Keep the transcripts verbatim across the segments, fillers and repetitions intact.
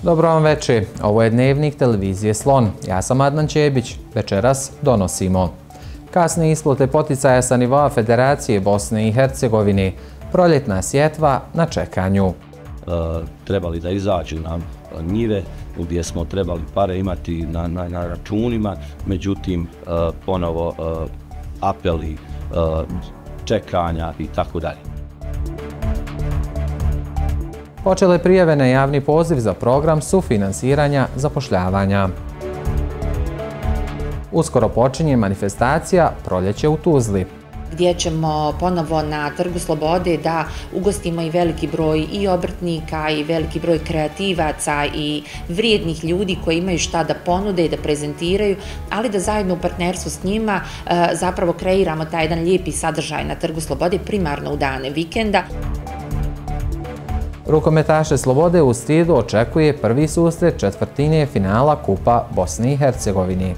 Dobro vam večer, ovo je Dnevnik televizije Slon. Ja sam Adnan Čebić, večeras donosimo. Kasne isplate poticaja sa nivoa Federacije Bosne i Hercegovine, proljetna sjetva na čekanju. E, trebali da izađu na njive gdje smo trebali pare imati na, na, na računima, međutim e, ponovo e, apeli, e, čekanja i tako dalje. Počele prijave na javni poziv za program sufinansiranja zapošljavanja. Uskoro počinje manifestacija Proljeće u Tuzli, gdje ćemo ponovo na Trgu Slobode da ugostimo i veliki broj i obrtnika i veliki broj kreativaca i vrijednih ljudi koji imaju šta da ponude i da prezentiraju, ali da zajedno u partnerstvu s njima zapravo kreiramo taj jedan lijepi sadržaj na Trgu Slobode, primarno u dane vikenda. Rukometaše Slobode u Stidu očekuje prvi susret četvrtine finala Kupa Bosne i Hercegovine.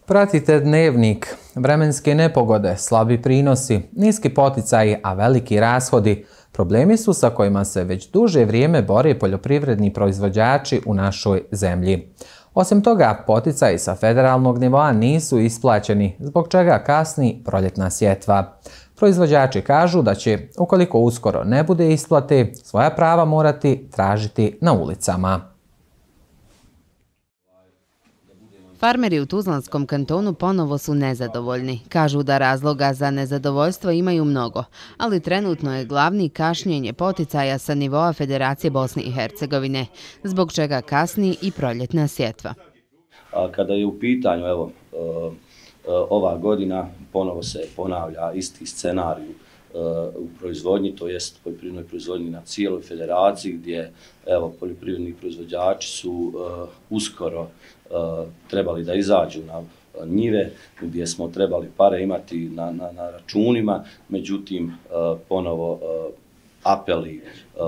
Pratite Dnevnik. Vremenske nepogode, slabi prinosi, niski poticaji, a veliki rashodi problemi su sa kojima se već duže vrijeme bore poljoprivredni proizvođači u našoj zemlji. Osim toga, poticaji sa federalnog nivoa nisu isplaćeni, zbog čega kasni proljetna sjetva. Proizvođači kažu da će, ukoliko uskoro ne bude isplate, svoja prava morati tražiti na ulicama. Farmeri u Tuzlanskom kantonu ponovo su nezadovoljni. Kažu da razloga za nezadovoljstvo imaju mnogo, ali trenutno je glavni kašnjenje poticaja sa nivoa Federacije Bosne i Hercegovine, zbog čega kasni i proljetna sjetva. A kada je u pitanju, evo, ova godina ponovo se ponavlja isti scenarij u proizvodnji, to jest poljoprivrednoj proizvodnji na cijeloj federaciji, gdje evo, poljoprivredni proizvođači su uh, uskoro uh, trebali da izađu na njive gdje smo trebali pare imati na, na, na računima, međutim uh, ponovo uh, apeli, uh,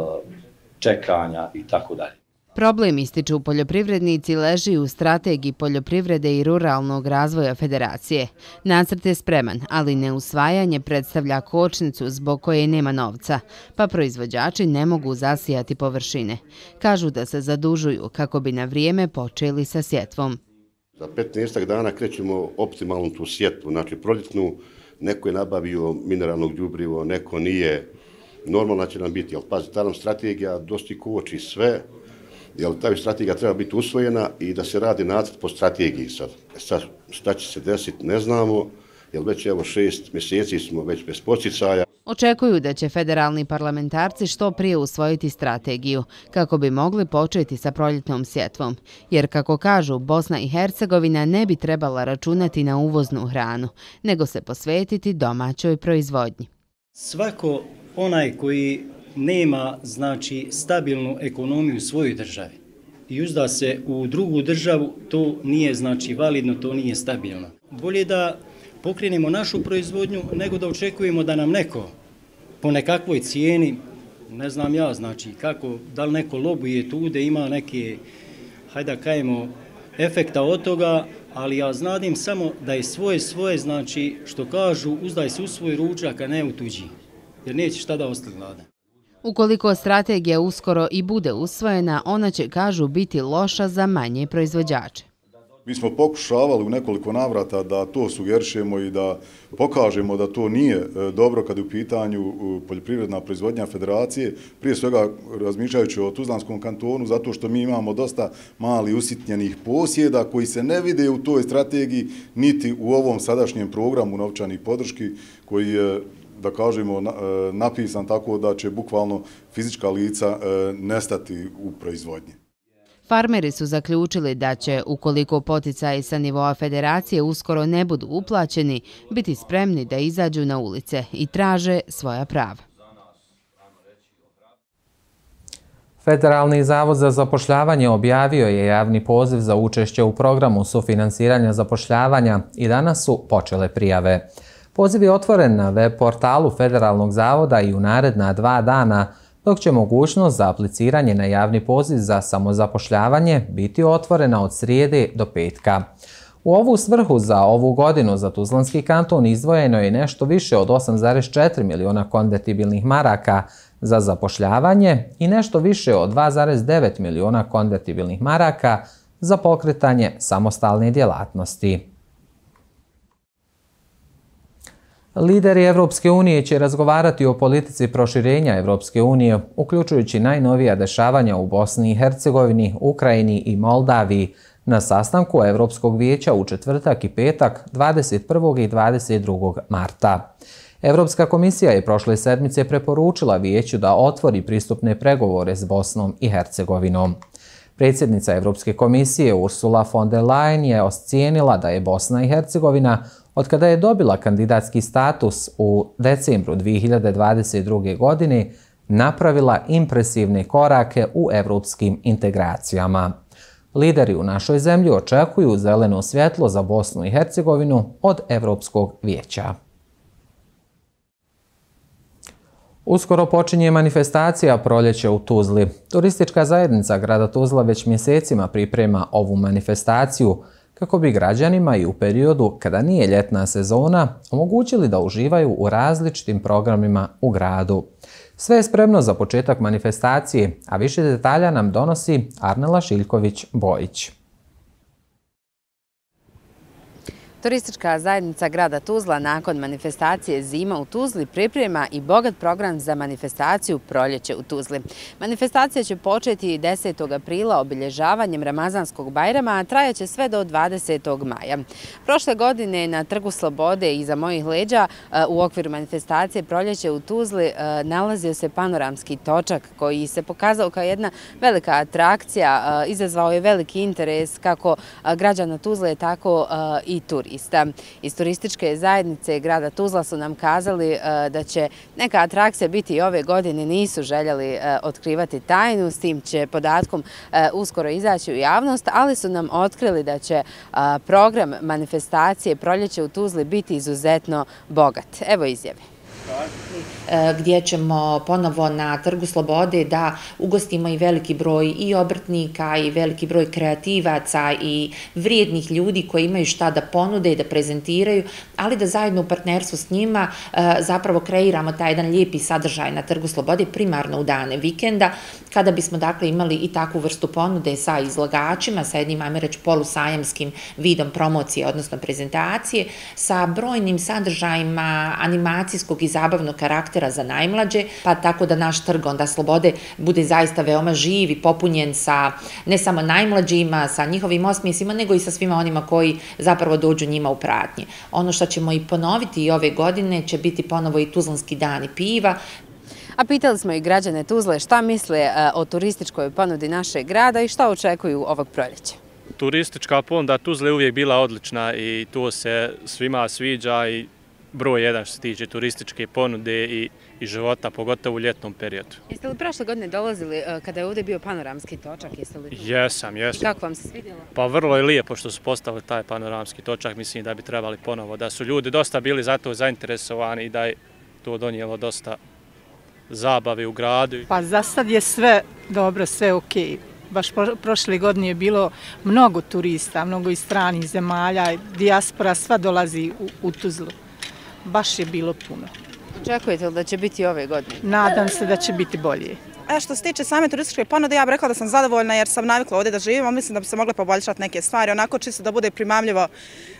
čekanja i tako dalje. Problem, ističu poljoprivrednici, leži u strategiji poljoprivrede i ruralnog razvoja federacije. Nacrt je spreman, ali neusvajanje predstavlja kočnicu zbog koje nema novca, pa proizvođači ne mogu zasijati površine. Kažu da se zadužuju kako bi na vrijeme počeli sa sjetvom. Za petnaest dana krećemo optimalnu tu sjetvu, znači proljetnu, neko je nabavio mineralno đubrivo, neko nije, normalno će nam biti, ali pazi, ta nam strategija dosti koči sve, jer ta strategija treba biti usvojena i da se radi nacrt po strategiji sad. Sad šta će se desiti ne znamo, jer već evo šest mjeseci smo već bez poticaja. Očekuju da će federalni parlamentarci što prije usvojiti strategiju, kako bi mogli početi sa proljetnom sjetvom. Jer, kako kažu, Bosna i Hercegovina ne bi trebala računati na uvoznu hranu, nego se posvetiti domaćoj proizvodnji. Svako onaj koji nema, znači, stabilnu ekonomiju u svojoj državi i uzda se u drugu državu, to nije, znači, validno, to nije stabilno. Bolje da pokrenemo našu proizvodnju nego da očekujemo da nam neko po nekakvoj cijeni, ne znam ja, znači, kako, da li neko lobuje tude, ima neke, hajde da kajemo, efekta od toga, ali ja znadim samo da je svoje svoje, znači, što kažu, uzdaj se u svoj ručak, a ne u tuđi, jer neće šta da ostali gladan. Ukoliko strategija uskoro i bude usvojena, ona će, kažu, biti loša za manje proizvođače. Mi smo pokušavali u nekoliko navrata da to sugerišemo i da pokažemo da to nije dobro kad je u pitanju poljoprivredna proizvodnja federacije, prije svega razmišljajući o Tuzlanskom kantonu, zato što mi imamo dosta mali usitnjenih posjeda koji se ne vide u toj strategiji, niti u ovom sadašnjem programu novčanih podrški koji je, da kažemo, napisan tako da će bukvalno fizička lica nestati u proizvodnji. Farmeri su zaključili da će, ukoliko poticaji sa nivoa federacije uskoro ne budu uplaćeni, biti spremni da izađu na ulice i traže svoja prava. Federalni zavod za zapošljavanje objavio je javni poziv za učešće u programu sufinansiranja zapošljavanja i danas su počele prijave. Poziv je otvoren na web portalu Federalnog zavoda i u naredna dva dana, dok će mogućnost za apliciranje na javni poziv za samozapošljavanje biti otvorena od srijede do petka. U ovu svrhu za ovu godinu za Tuzlanski kanton izdvojeno je nešto više od osam zarez četiri miliona konvertibilnih maraka za zapošljavanje i nešto više od dva zarez devet miliona konvertibilnih maraka za pokretanje samostalne djelatnosti. Lideri Evropske unije će razgovarati o politici proširenja Evropske unije, uključujući najnovija dešavanja u Bosni i Hercegovini, Ukrajini i Moldaviji, na sastanku Evropskog vijeća u četvrtak i petak dvadeset prvog i dvadeset drugog marta. Evropska komisija je prošle sedmice preporučila vijeću da otvori pristupne pregovore s Bosnom i Hercegovinom. Predsjednica Evropske komisije Ursula von der Leyen je ocijenila da je Bosna i Hercegovina, otkada je dobila kandidatski status u decembru dvije hiljade dvadeset druge. godine, napravila impresivne korake u evropskim integracijama. Lideri u našoj zemlji očekuju zeleno svjetlo za Bosnu i Hercegovinu od Evropskog vijeća. Uskoro počinje manifestacija Proljeće u Tuzli. Turistička zajednica grada Tuzla već mjesecima priprema ovu manifestaciju kako bi građanima i u periodu kada nije ljetna sezona omogućili da uživaju u različitim programima u gradu. Sve je spremno za početak manifestacije, a više detalja nam donosi Arnela Šiljković-Bojić. Turistička zajednica grada Tuzla nakon manifestacije Zima u Tuzli priprema i bogat program za manifestaciju Proljeće u Tuzli. Manifestacija će početi desetog aprila obilježavanjem Ramazanskog Bajrama, a trajaće sve do dvadesetog maja. Prošle godine na Trgu Slobode iza mojih leđa u okviru manifestacije Proljeće u Tuzli nalazio se panoramski točak koji se pokazao kao jedna velika atrakcija, izazvao je veliki interes kako građana Tuzle, tako i turista. Iz turističke zajednice grada Tuzla su nam kazali da će neka atrakcija biti i ove godine, nisu željeli otkrivati tajnu, s tim će podatkom uskoro izaći u javnost, ali su nam otkrili da će program manifestacije Proljeće u Tuzli biti izuzetno bogat. Evo izjave. Gdje ćemo ponovo na Trgu Slobode da ugostimo i veliki broj i obrtnika i veliki broj kreativaca i vrijednih ljudi koji imaju šta da ponude i da prezentiraju, ali da zajedno u partnerstvu s njima zapravo kreiramo taj jedan lijepi sadržaj na Trgu Slobode, primarno u dane vikenda, kada bismo dakle imali i takvu vrstu ponude sa izlagačima, sa jednim, ajme reći, polusajamskim vidom promocije, odnosno prezentacije, sa brojnim sadržajima animacijskog i zabavnog karaktera za najmlađe, pa tako da naš Trg onda Slobode bude zaista veoma živ i popunjen sa ne samo najmlađima, sa njihovim osmijesima, nego i sa svima onima koji zapravo dođu njima u pratnje. Ono što ćemo i ponoviti i ove godine će biti ponovo i Tuzlanski dani piva. A pitali smo i građane Tuzle šta misle o turističkoj ponudi našeg grada i šta očekuju ovog proljeća. Turistička ponuda Tuzle je uvijek bila odlična i to se svima sviđa i broj jedan što se tiče turističke ponude i, i života, pogotovo u ljetnom periodu. Jeste li prošle godine dolazili kada je ovdje bio panoramski točak? Jeste li... Jesam, jesam. I kako vam se svidjelo? Pa vrlo je lijepo što su postavili taj panoramski točak, mislim da bi trebali ponovo, da su ljudi dosta bili za to zainteresovani i da je to donijelo dosta zabave u gradu. Pa za sad je sve dobro, sve okej. Baš prošle godine je bilo mnogo turista, mnogo iz stranih zemalja, dijaspora, sva dolazi u, u Tuzlu. Baš je bilo puno. Očekujete li da će biti ove godine? Nadam se da će biti bolje. E, što se tiče same turističke ponude, ja bih rekla da sam zadovoljna jer sam navikla ovdje da živim, a mislim da bi se mogle poboljšati neke stvari, onako čisto da bude primamljivo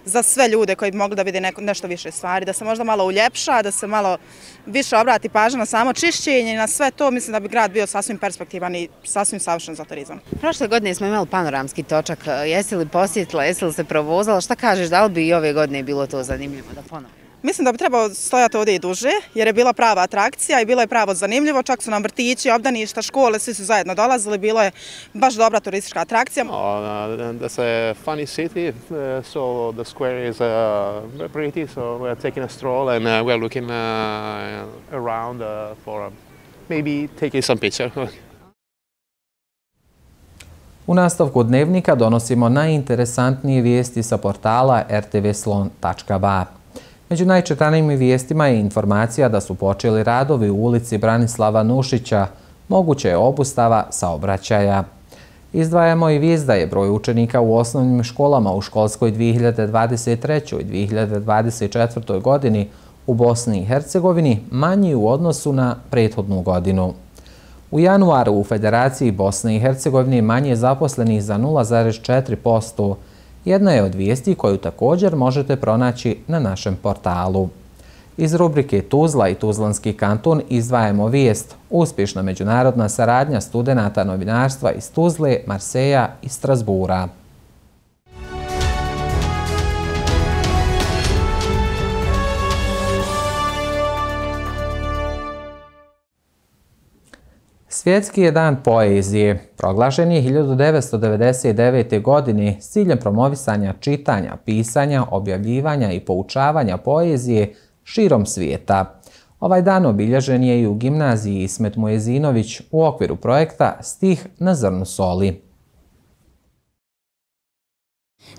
za sve ljude koji bi mogli da vide neko, nešto više stvari, da se možda malo uljepša, da se malo više obrati pažnja na samo čišćenje i na sve to, mislim da bi grad bio sasvim perspektivan i sasvim savršen za turizam. Prošle godine smo imali panoramski točak, jesi li posjetila, jesi li se provozala, šta kažeš, da li bi i ove godine bilo to zanimljivo da ponovimo? Mislim da bi trebao stojati ovdje i duže, jer je bila prava atrakcija i bilo je pravo zanimljivo. Čak su nam vrtići, obdaništa, škole, svi su zajedno dolazili. Bilo je baš dobra turistička atrakcija. That's a funny city, so the square is pretty, so we're taking a stroll and we're looking around for maybe taking some picture. U nastavku dnevnika donosimo najinteresantnije vijesti sa portala r t v slon tačka b a. Među najčitanijim vijestima je informacija da su počeli radovi u ulici Branislava Nušića, moguće je obustava saobraćaja. Izdvajamo i vijest da je broj učenika u osnovnim školama u školskoj dvije hiljade dvadeset trećoj. i dvije hiljade dvadeset četvrtoj. godini u Bosni i Hercegovini manji u odnosu na prethodnu godinu. U januaru u Federaciji Bosne i Hercegovine manje zaposlenih za nula zarez četiri posto. Jedna je od vijesti koju također možete pronaći na našem portalu. Iz rubrike Tuzla i Tuzlanski kanton izdvajamo vijest uspješna međunarodna saradnja studenata novinarstva iz Tuzle, Marseja i Strasbura. Svjetski je dan poezije. Proglašen je hiljadu devetsto devedeset devete. godine s ciljem promovisanja čitanja, pisanja, objavljivanja i poučavanja poezije širom svijeta. Ovaj dan obilježen je i u gimnaziji Ismet Mujezinović u okviru projekta Stih na zrnu soli.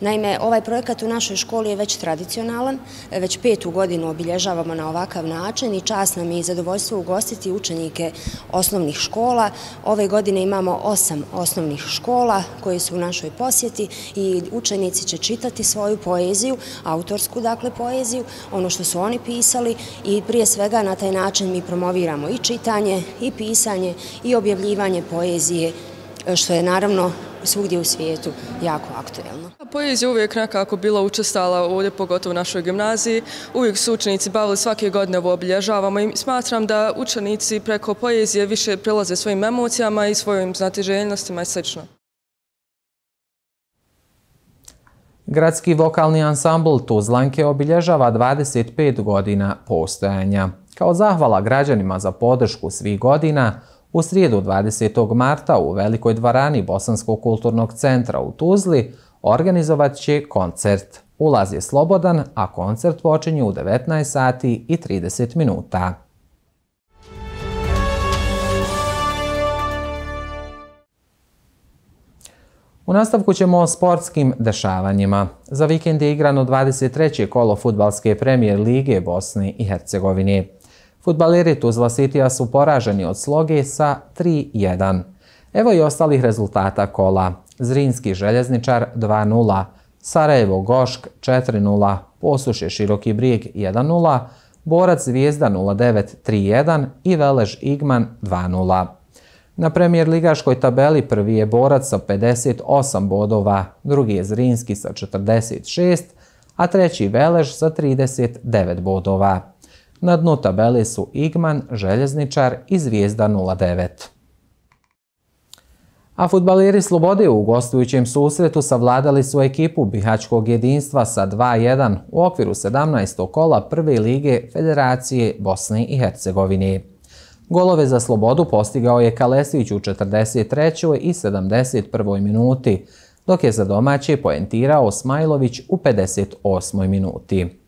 Naime, ovaj projekat u našoj školi je već tradicionalan, već petu godinu obilježavamo na ovakav način i čast nam je i zadovoljstvo ugostiti učenike osnovnih škola. Ove godine imamo osam osnovnih škola koje su u našoj posjeti i učenici će čitati svoju poeziju, autorsku dakle poeziju, ono što su oni pisali i prije svega na taj način mi promoviramo i čitanje, i pisanje, i objavljivanje poezije, što je naravno svugdje u svijetu jako aktuelno. Poezija uvijek nekako bila učestala ovdje, pogotovo u našoj gimnaziji. Uvijek su učenici bavili, svake godine ovo obilježavamo i smatram da učenici preko poezije više prilaze svojim emocijama i svojim znatiželjnostima i sl. Gradski vokalni ansambl Tuzlanke obilježava dvadeset pet godina postojanja. Kao zahvala građanima za podršku svih godina, u srijedu dvadesetog marta u Velikoj dvorani Bosanskog kulturnog centra u Tuzli organizovat će koncert. Ulaz je slobodan, a koncert počinje u devetnaest sati i trideset minuta. U nastavku ćemo o sportskim dešavanjima. Za vikend je igrano dvadeset treće kolo fudbalske premijer lige Bosne i Hercegovine. Fudbaleri Tuzla Citya su poraženi od Sloge sa tri jedan. Evo i ostalih rezultata kola. Zrinski Željezničar dva nula, Sarajevo Gošk četiri nula, Posušje Široki Brijeg jedan nula, Borac Zvijezda nula devet tri jedan i Velež Igman dva nula. Na premijer ligaškoj tabeli prvi je Borac sa pedeset osam bodova, drugi je Zrinski sa četrdeset šest, a treći Velež sa trideset devet bodova. Na dnu tabele su Igman, Željezničar i Zvijezda nula devet. A fudbaleri Slobode u gostujućem susretu savladali su ekipu Bihaćkog jedinstva sa dva jedan u okviru sedamnaestog kola prve lige Federacije Bosne i Hercegovine. Golove za Slobodu postigao je Kalesić u četrdeset trećoj i sedamdeset prvoj minuti, dok je za domaće poentirao Smajlović u pedeset osmoj minuti.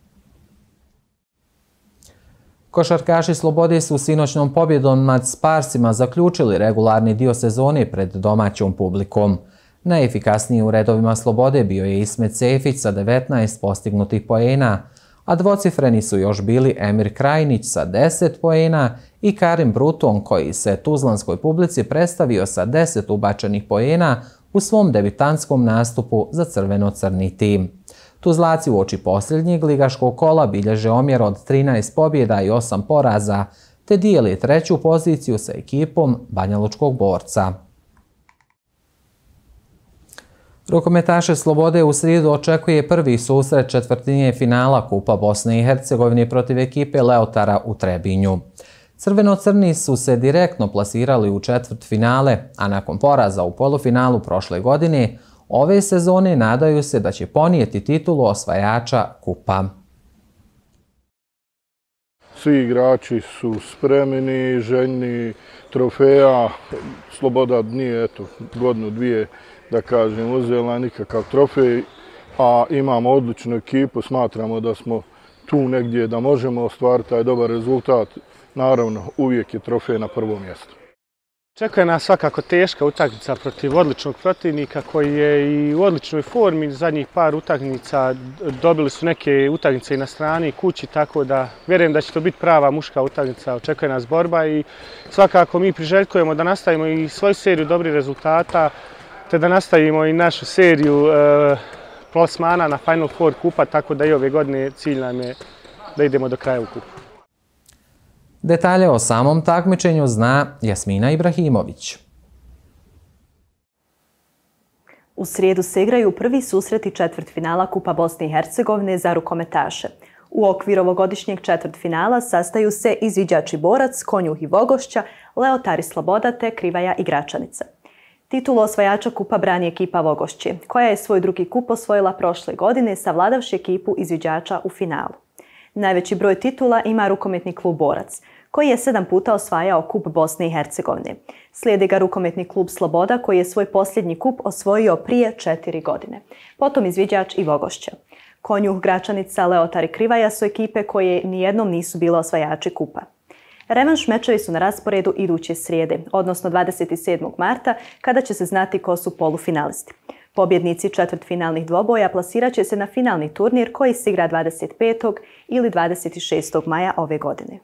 Košarkaši Slobode su sinoćnom pobjedom nad Sparsima zaključili regularni dio sezone pred domaćom publikom. Najefikasniji u redovima Slobode bio je Ismet Sefić sa devetnaest postignutih poena, a dvocifreni su još bili Emir Krajnić sa deset poena i Karim Bruton koji se tuzlanskoj publici predstavio sa deset ubačenih poena u svom debitantskom nastupu za crveno-crni tim. Tuzlaci u oči posljednjeg ligaškog kola bilježe omjer od trinaest pobjeda i osam poraza, te dijeli treću poziciju sa ekipom Banjalučkog Borca. Rukometaše Slobode u srijedu očekuje prvi susret četvrtinje finala Kupa Bosne i Hercegovine protiv ekipe Leotara u Trebinju. Crveno-crni su se direktno plasirali u četvrt finale, a nakon poraza u polufinalu prošle godine, ove sezone nadaju se da će ponijeti titulu osvajača kupa. Svi igrači su spremni, željni trofeja. Sloboda nije, eto, godinu, dvije, da kažem, uzela nikakav trofej, a imamo odličnu ekipu, smatramo da smo tu negdje da možemo ostvariti taj dobar rezultat. Naravno, uvijek je trofej na prvom mjestu. Čekuje nas svakako teška utakmica protiv odličnog protivnika koji je i u odličnoj formi. Zadnjih par utakmica dobili su neke utakmice i na strani i kući, tako da vjerujem da će to biti prava muška utakmica. Očekuje nas borba i svakako mi priželjkujemo da nastavimo i svoju seriju dobrih rezultata, te da nastavimo i našu seriju e, plasmana na Final Four kupa, tako da i ove godine cilj nam je da idemo do kraja u kupu. Detalje o samom takmičenju zna Jasmina Ibrahimović. U srijedu se igraju prvi susreti četvrtfinala Kupa Bosne i Hercegovine za rukometaše. U okviru ovogodišnjeg četvrtfinala sastaju se izviđač i borac, Konjuh i Vogošća, Leotari Sloboda te Krivaja i Gračanica. Titulu osvajača kupa brani ekipa Vogošće, koja je svoj drugi kup osvojila prošle godine savladavši ekipu izviđača u finalu. Najveći broj titula ima rukometni klub Borac, koji je sedam puta osvajao kup Bosne i Hercegovine. Slijedi ga rukometni klub Sloboda, koji je svoj posljednji kup osvojio prije četiri godine. Potom izviđač i Vogošća. Konjuh, Gračanica, Leotar i Krivaja su ekipe koje nijednom nisu bile osvajači kupa. Revanš mečevi su na rasporedu iduće srijede, odnosno dvadeset sedmog marta, kada će se znati ko su polufinalisti. Pobjednici četvrtfinalnih dvoboja plasirat će se na finalni turnir koji se igra dvadeset petog ili dvadeset šestog maja ove godine.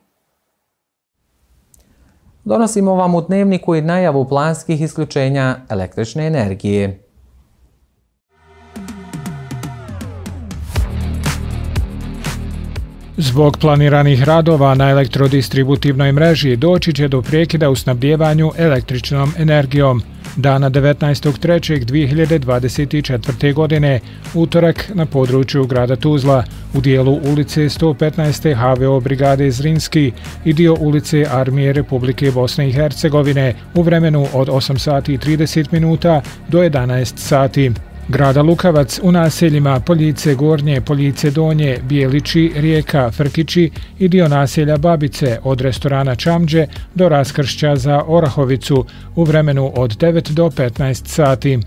Donosimo vam u dnevniku i najavu planskih isključenja električne energije. Zbog planiranih radova na elektrodistributivnoj mreži doći će do prekida u snabdjevanju električnom energijom. Dana devetnaestog trećeg dvije hiljade dvadeset četvrte. godine, utorak na području grada Tuzla, u dijelu ulice sto petnaeste H V O brigade Zrinski i dio ulice Armije Republike Bosne i Hercegovine u vremenu od osam sati i trideset minuta do jedanaest sati. Grada Lukavac u naseljima Poljice Gornje, Poljice Donje, Bijelići, Rijeka, Frkići i dio naselja Babice od restorana Čamđe do raskršća za Orahovicu u vremenu od devet do petnaest sati.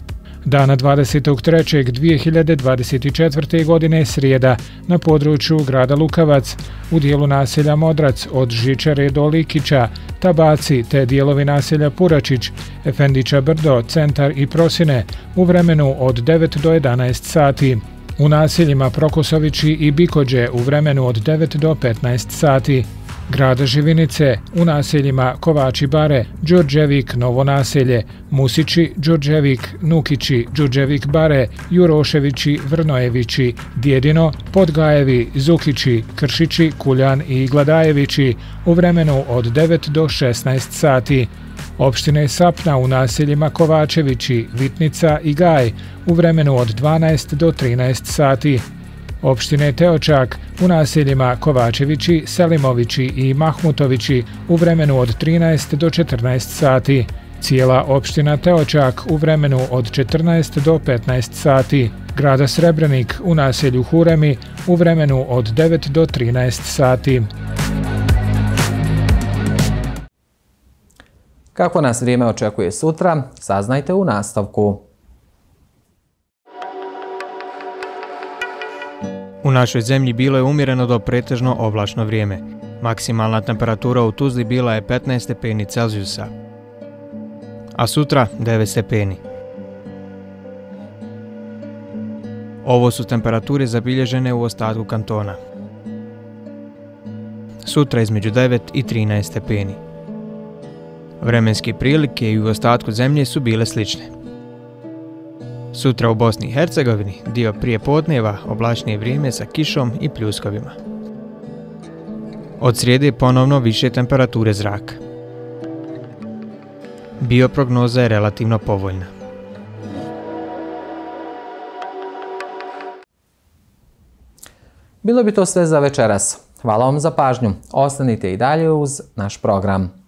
Dana dvadesetog trećeg dvije hiljade dvadeset četvrte. godine srijeda na području grada Lukavac u dijelu naselja Modrac od Žičare do Likića, Tabaci te dijelovi naselja Puračić, Efendića Brdo, Centar i Prosine u vremenu od devet do jedanaest sati. U naseljima Prokosovići i Bikođe u vremenu od devet do petnaest sati. Grada Živinice u naseljima Kovači Bare, Đurđevik, Novo naselje, Musići, Đurđevik, Nukići, Đurđevik Bare, Juroševići, Vrnojevići, Djedino, Podgajevi, Zukići, Kršići, Kuljan i Gladajevići u vremenu od devet do šesnaest sati. Opštine Sapna u naseljima Kovačevići, Vitnica i Gaj u vremenu od dvanaest do trinaest sati. Opštine Teočak u naseljima Kovačevići, Selimovići i Mahmutovići u vremenu od trinaest do četrnaest sati. Cijela opština Teočak u vremenu od četrnaest do petnaest sati. Grada Srebrenik u naselju Huremi u vremenu od devet do trinaest sati. Kako nas vrijeme očekuje sutra, saznajte u nastavku. U našoj zemlji bilo je umjereno do pretežno oblačno vrijeme. Maksimalna temperatura u Tuzli bila je petnaest stepeni Celzijusa, a sutra devet stepeni. Ovo su temperature zabilježene u ostatku kantona. Sutra između devet i trinaest stepeni. Vremenske prilike i u ostatku zemlje su bile slične. Sutra u Bosni i Hercegovini dio prije podneva oblačnije vrijeme sa kišom i pljuskovima. Od srijede ponovno više temperature zraka. Bioprognoza je relativno povoljna. Bilo bi to sve za večeras. Hvala vam za pažnju. Ostanite i dalje uz naš program.